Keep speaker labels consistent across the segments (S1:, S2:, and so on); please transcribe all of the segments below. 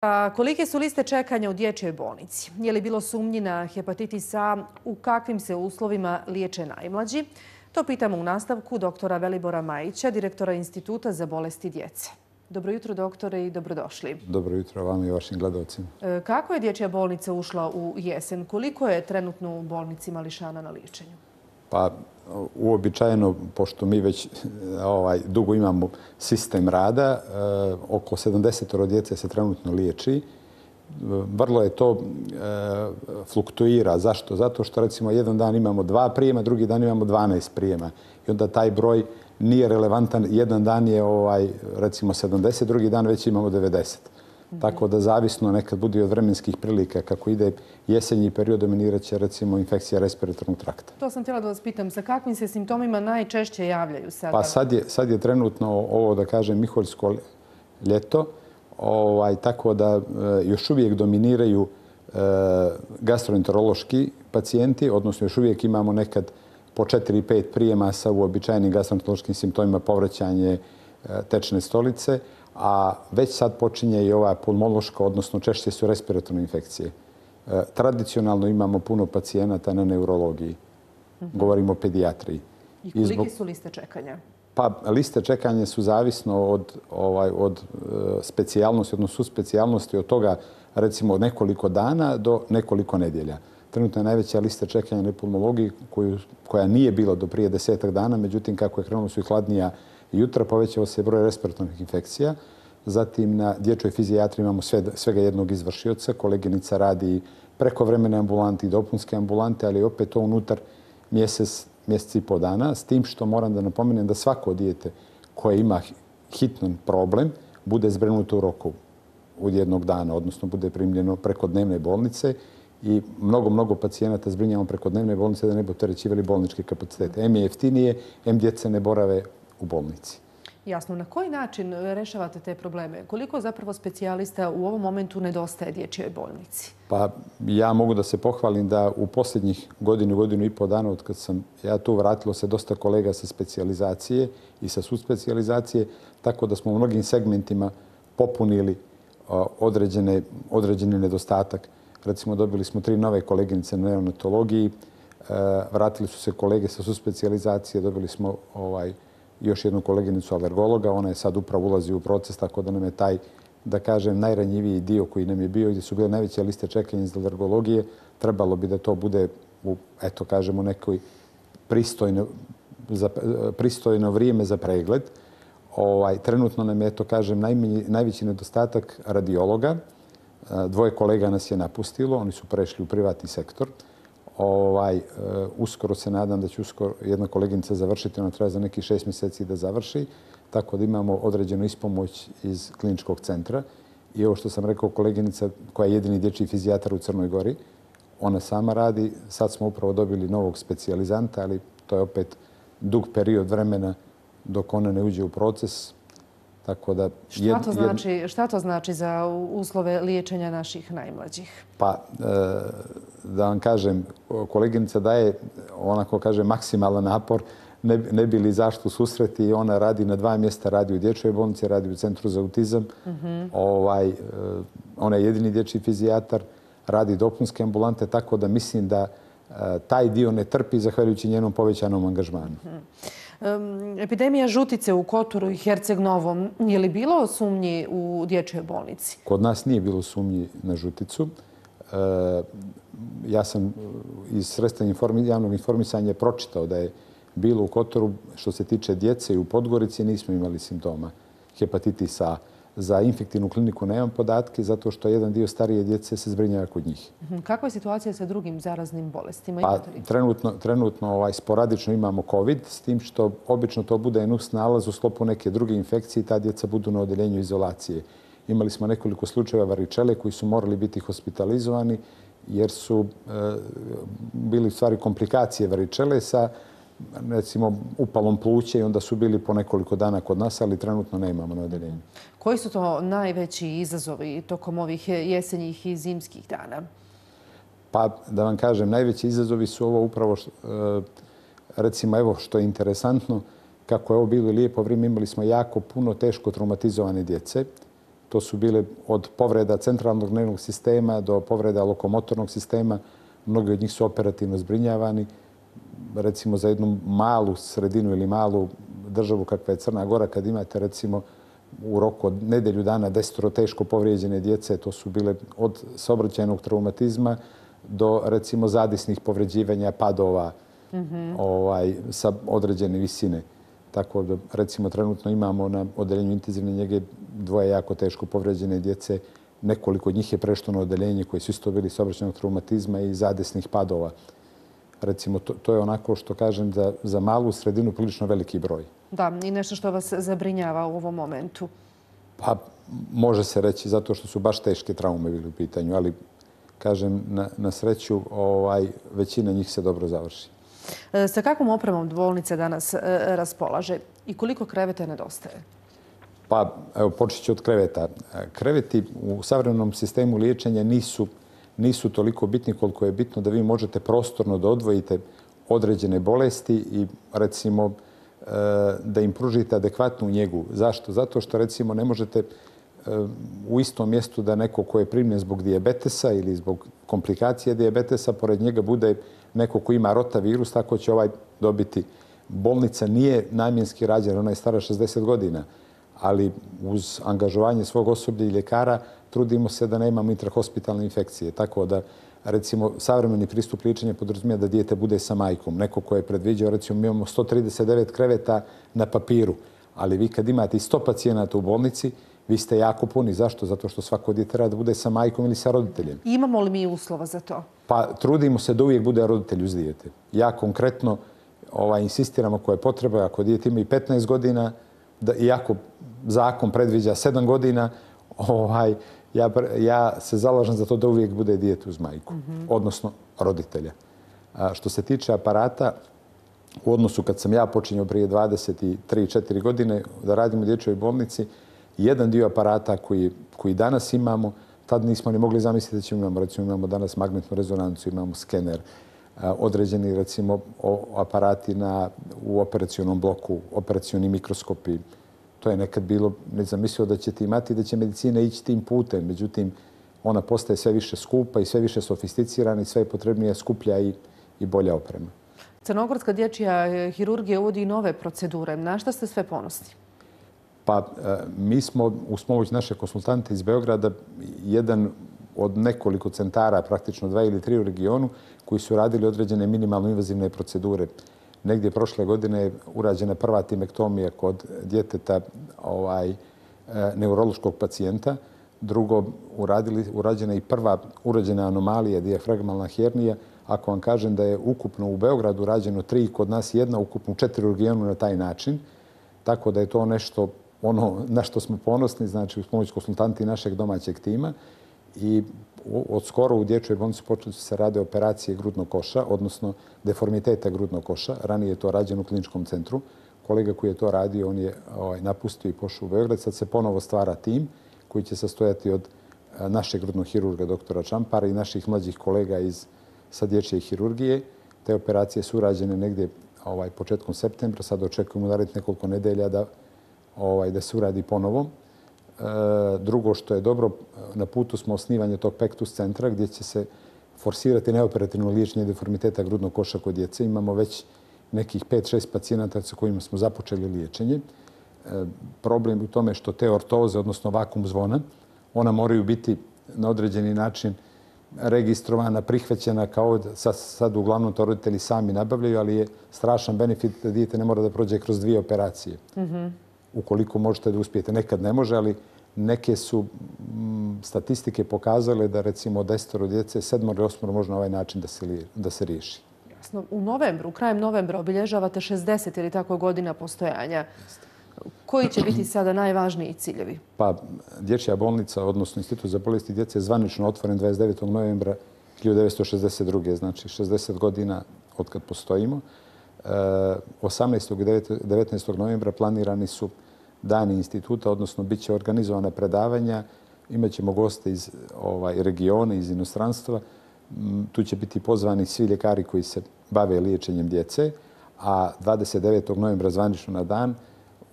S1: A kolike su liste čekanja u dječjoj bolnici? Je li bilo sumnji na hepatitis A? U kakvim se uslovima liječe najmlađi? To pitamo u nastavku doktora Velibora Majića, direktora Instituta za bolesti djece. Dobro jutro, doktore, i dobrodošli.
S2: Dobro jutro vama i vašim gledalcima.
S1: Kako je dječja bolnica ušla u jesen? Koliko je trenutno u bolnici mališana na liječenju?
S2: Pa uobičajeno, pošto mi već dugo imamo sistem rada, oko 70 djece se trenutno liječi. Vrlo je to fluktuira. Zašto? Zato što recimo jedan dan imamo 2 prijema, drugi dan imamo 12 prijema. I onda taj broj nije relevantan. Jedan dan je recimo 70, drugi dan već imamo 90. Tako da zavisno nekad bude od vremenskih prilika. Kako ide jesenji period, dominirat će recimo infekcija respiratornog trakta.
S1: To sam htjela da vas pitam, sa kakvim se simptomima najčešće javljaju sada?
S2: Pa sad je trenutno ovo, da kažem, miholjsko ljeto, tako da još uvijek dominiraju gastroenterološki pacijenti, odnosno još uvijek imamo nekad po 4-5 prijema sa uobičajenim gastroenterološkim simptomima, povraćanje tečne stolice, a već sad počinje i ova pulmološka, odnosno češće su respiratorne infekcije. Tradicionalno imamo puno pacijenata na neurologiji. Govorimo o pedijatriji.
S1: I kolike su liste čekanja?
S2: Pa liste čekanja su zavisno od specijalnosti, odnosno suspecijalnosti, od toga recimo od nekoliko dana do nekoliko nedjelja. Trenutno je najveća lista čekanja na pulmologiji koja nije bila do prije 10 dana, međutim kako je krenulo su i hladnija jutra, povećao se broj respiratornih infekcija. Zatim na dječjoj fizijatriji imamo svega jednog izvršioca. Koleginica radi prekovremene ambulante i dopunske ambulante, ali opet to unutar mjesec i pol dana. S tim što moram da napomenem da svako dijete koje ima hitan problem bude zbrinuto u roku od jednog dana, odnosno bude primljeno preko dnevne bolnice i mnogo pacijenata zbrinjavamo preko dnevne bolnice da ne bi opterećivali bolničke kapacitete. M je jeftinije, M djece ne borave u bolnici.
S1: Jasno. Na koji način rešavate te probleme? Koliko zapravo specijalista u ovom momentu nedostaje dječjoj bolnici?
S2: Pa ja mogu da se pohvalim da u posljednjih godinu i pol dana od kad sam ja tu vratilo se dosta kolega sa specijalizacije i sa subspecijalizacije, tako da smo u mnogim segmentima popunili određeni nedostatak. Recimo dobili smo 3 nove koleginice na neonatologiji, vratili su se kolege sa subspecijalizacije, dobili smo još jednu koleginicu alergologa, ona je sad upravo ulazi u proces, tako da nam je taj, da kažem, najranjiviji dio koji nam je bio, gdje su bile najveće liste čekanja iz alergologije, trebalo bi da to bude u, eto kažemo, nekoj pristojno vrijeme za pregled. Trenutno nam je, eto kažem, najveći nedostatak radiologa. 2 kolega nas je napustilo, oni su prešli u privatni sektor. Uskoro se nadam da će jedna koleginica završiti, ona treba za nekih 6 mjeseci da završi, tako da imamo određenu ispomoć iz kliničkog centra. I ovo što sam rekao, koleginica koja je jedini dječji fizijatar u Crnoj Gori, ona sama radi. Sad smo upravo dobili novog specijalizanta, ali to je opet dug period vremena dok ona ne uđe u proces.
S1: Šta to znači za uslove liječenja naših najmlađih?
S2: Pa, da vam kažem, koleginica daje, onako kaže, maksimalan napor, ne bi li zašto susreti, i ona radi na 2 mjesta, radi u dječjoj bolnici, radi u Centru za autizam. Ona je jedini dječji fizijatar, radi dopunske ambulante, tako da mislim da taj dio ne trpi zahvaljujući njenom povećanom angažmanu.
S1: Epidemija žutice u Kotoru i Herceg Novom, je li bilo sumnji u dječjoj bolnici?
S2: Kod nas nije bilo sumnji na žuticu. Ja sam iz sredstva javnog informisanja pročitao da je bilo u Kotoru, što se tiče djece, i u Podgorici nismo imali simptoma hepatitisa A. Za infektivnu kliniku nemam podatke, zato što jedan dio starije djece se zbrinjava kod njih.
S1: Kakva je situacija sa drugim zaraznim bolestima?
S2: Pa, trenutno sporadično imamo COVID, s tim što obično to bude nus nalaz u sklopu neke druge infekcije i ta djeca budu na odeljenju izolacije. Imali smo nekoliko slučajeva varičele koji su morali biti hospitalizovani jer su bili u stvari komplikacije varičele sa recimo upalom pluća i onda su bili po nekoliko dana kod nas, ali trenutno ne imamo na odeljenju.
S1: Koji su to najveći izazovi tokom ovih jesenjih i zimskih dana?
S2: Pa, da vam kažem, najveći izazovi su ovo upravo, recimo, evo što je interesantno, kako je ovo bilo lijepo vrijeme, imali smo jako puno teško traumatizovane djece. To su bile od povreda centralnog nervnog sistema do povreda lokomotornog sistema. Mnogi od njih su operativno zbrinjavani. Recimo za jednu malu sredinu ili malu državu kakva je Crna Gora, kad imate recimo u roku od nedelju dana 10 teško povrijeđene djece, to su bile od saobraćajnog traumatizma do recimo zadisnih povređivanja, padova sa određene visine. Tako da recimo trenutno imamo na odeljenju intenzivne njege 2 jako teško povrijeđene djece. Nekoliko od njih je prešlo na odeljenje koji su isto bili saobraćajnog traumatizma i zadesnih padova. Recimo, to je onako što kažem za malu sredinu prilično veliki broj.
S1: Da, i nešto što vas zabrinjava u ovom momentu.
S2: Pa, može se reći zato što su baš teške traume bili u pitanju, ali kažem, na sreću većina njih se dobro završi.
S1: Sa kakvom opremom bolnica danas raspolaže i koliko kreveta nedostaje?
S2: Pa, evo, počet ću od kreveta. Kreveti u savremenom sistemu liječenja nisu toliko bitni koliko je bitno da vi možete prostorno da odvojite određene bolesti i recimo da im pružite adekvatnu njegu. Zašto? Zato što recimo ne možete u istom mjestu da neko ko je primljen zbog dijabetesa ili zbog komplikacije dijabetesa, pored njega bude neko ko ima rotavirus, tako će ovaj dobiti. Bolnica nije namjenski rađena, ona je stara 60 godina, ali uz angažovanje svog osoblja i ljekara trudimo se da nemamo intrahospitalne infekcije. Tako da, recimo, savremeni pristup liječenja podrazumijeva da dijete bude sa majkom. Neko ko je predviđao, recimo, mi imamo 139 kreveta na papiru, ali vi kad imate i 100 pacijenata u bolnici, vi ste jako puni. Zašto? Zato što svako dijete treba da bude sa majkom ili sa roditeljem.
S1: Imamo li mi uslova za to?
S2: Pa trudimo se da uvijek bude roditelj uz dijete. Ja konkretno insistiram ako je potreba, ako dijete ima i 15 godina, iako zakon predviđa 7 godina, ja se zalažem za to da uvijek bude dijete uz majku, odnosno roditelja. Što se tiče aparata, u odnosu kad sam ja počinjao prije 23-4 godine da radim u dječjoj bolnici, jedan dio aparata koji danas imamo, tad nismo ni mogli zamisliti da ćemo imamo. Recimo imamo danas magnetnu rezonancu, imamo skener, određeni recimo aparati u operacionom bloku, operacioni mikroskopi. To je nekad bilo nezamislivo da ćete imati, da će medicina ići tim putem. Međutim, ona postaje sve više skupa i sve više sofisticirana i sve je potrebnija skuplja i bolja oprema.
S1: Crnogorska dječja hirurgija uvodi i nove procedure. Na šta ste sve ponosni?
S2: Pa mi smo uz pomoć naše konsultante iz Beograda jedan od nekoliko centara, praktično 2 ili 3 u regionu, koji su radili određene minimalno invazivne procedure. Negdje prošle godine je urađena prva timektomija kod djeteta neurološkog pacijenta. Drugo, urađena i prva urođena anomalija, dijafragmalna hernija. Ako vam kažem da je ukupno u Beogradu rađeno 3, kod nas 1, ukupno 4 u regionu na taj način. Tako da je to nešto na što smo ponosni, znači uz pomoć konsultanti našeg domaćeg tima. I od skoro u dječjoj bolnici počeli su se rade operacije grudnog koša, odnosno deformiteta grudnog koša. Ranije je to rađeno u kliničkom centru. Kolega koji je to radio, on je napustio i pošao u Beograd. Sad se ponovo stvara tim koji će sastojati od našeg grudnog hirurga, doktora Čampara i naših mlađih kolega sa dječje hirurgije. Te operacije su urađene negdje početkom septembra. Sad očekujemo narednih nekoliko nedelja da se uradi ponovo. Drugo što je dobro, na putu smo osnivanje tog Pektus centra gdje će se forsirati neoperativno liječenje deformiteta grudnog koša kod djece. Imamo već nekih 5-6 pacijenata sa kojima smo započeli liječenje. Problem u tome što te ortoze, odnosno vakum zvona, ona moraju biti na određeni način registrovana, prihvaćena kao sad uglavnom to roditelji sami nabavljaju, ali je strašan benefit da dijete ne mora da prođe kroz 2 operacije. Ukoliko možete da uspijete. Nekad ne može, ali neke su statistike pokazale da recimo od 10 djece 7 ili 8 može na ovaj način da se riješi.
S1: Jasno. U novembru, krajem novembra obilježavate 60 ili tako godina postojanja. Koji će biti sada najvažniji ciljevi?
S2: Pa dječja bolnica, odnosno Institut za bolesti djece je zvanično otvoren 29. novembra 1962. Znači 60 godina od kad postojimo. 18. i 19. novembra planirani su dani instituta, odnosno bit će organizovana predavanja. Imaćemo goste iz regiona, iz inostranstva. Tu će biti pozvani svi ljekari koji se bave liječenjem djece. A 29. novembra zvanično na dan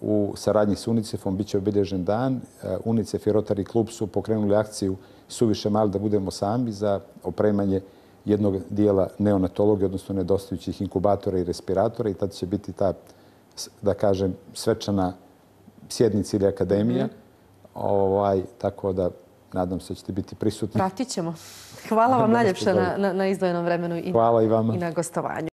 S2: u saradnji s UNICEF-om bit će obilježen dan. UNICEF i Rotary klub su pokrenuli akciju Suviše mali da budemo sami za opremanje jednog dijela neonatologije, odnosno nedostajućih inkubatora i respiratora i tad će biti ta, da kažem, svečana sjednica ili akademija. Tako da nadam se da ćete biti prisutni.
S1: Pratit ćemo. Hvala vam najljepše na izdvojenom vremenu i na gostovanju.